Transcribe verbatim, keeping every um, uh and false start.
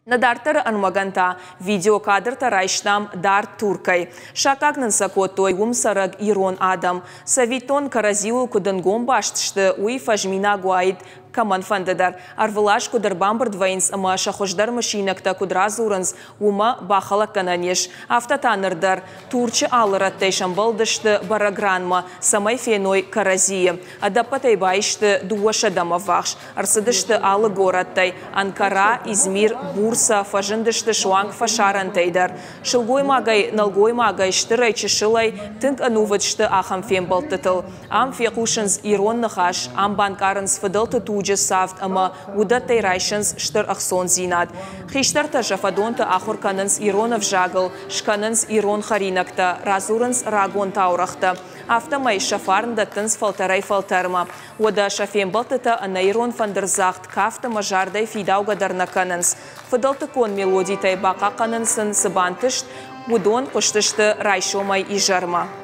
Нӕ дарддӕры ӕрмӕгӕн та видеокадртӕ райстам дард Туркӕй. Саккаг нын сӕ кодтой уым цӕрӕг ирон адӕм. Цӕвиттон, кӕрӕдзиуыл куыд ӕнгом баст сты, уый фӕзминаг уаид кӕмӕнфӕнды дӕр. Ӕрвылаз куыд ӕрбамбырд вӕййынц ӕмӕ сӕ хуыздӕр мысинӕгтӕ куыд радзурынц, уымӕ бахӕлӕггӕнӕн ис. Афтӕ та ныр дӕр Турчы алы рӕттӕй сӕмбӕлдысты бӕрӕг ранмӕ, цӕмӕй феной кӕрӕдзийы. Ӕдӕппӕтӕй баисты дыууӕсӕдӕмӕ ввахс. Ӕрцыдысты алы горӕттӕй: Анкара, Измир, Бурса, фӕзындысты суанг фӕсарӕнтӕй дӕр. Сылгоймагӕй, нӕлгоймагӕй, стырӕй, чысылӕй тынг ӕнувыд сты ахӕм фембӕлдтытыл. Ам фехъусынц ирон ныхас, ам банкъарынц фыдӕлты туджы цавд ӕмӕ уыдӕттӕй райсынц стыр ӕхцондзинад. Хистӕртӕ сӕ фӕдонты ахуыр кӕнынц ирон ӕвзагыл, скӕнынц ирон хӕринӕгтӕ, радзурынц рагон таурӕгътӕ. Афтӕмӕй сӕ фарн дӕттынц фӕлтӕрӕй фӕлтӕрмӕ. Уӕдӕ сӕ фембӕлдтытӕ ӕнӕ ирон фӕндырдзагъд, кафт ӕмӕ зардӕй фидаугӕ дӕр нӕ кӕнынц. Фыдӕлтыккон мелодитӕй бахъахъхъӕнын сын цы бантыст, уыдон хъуыстысты райсомӕй изӕрмӕ.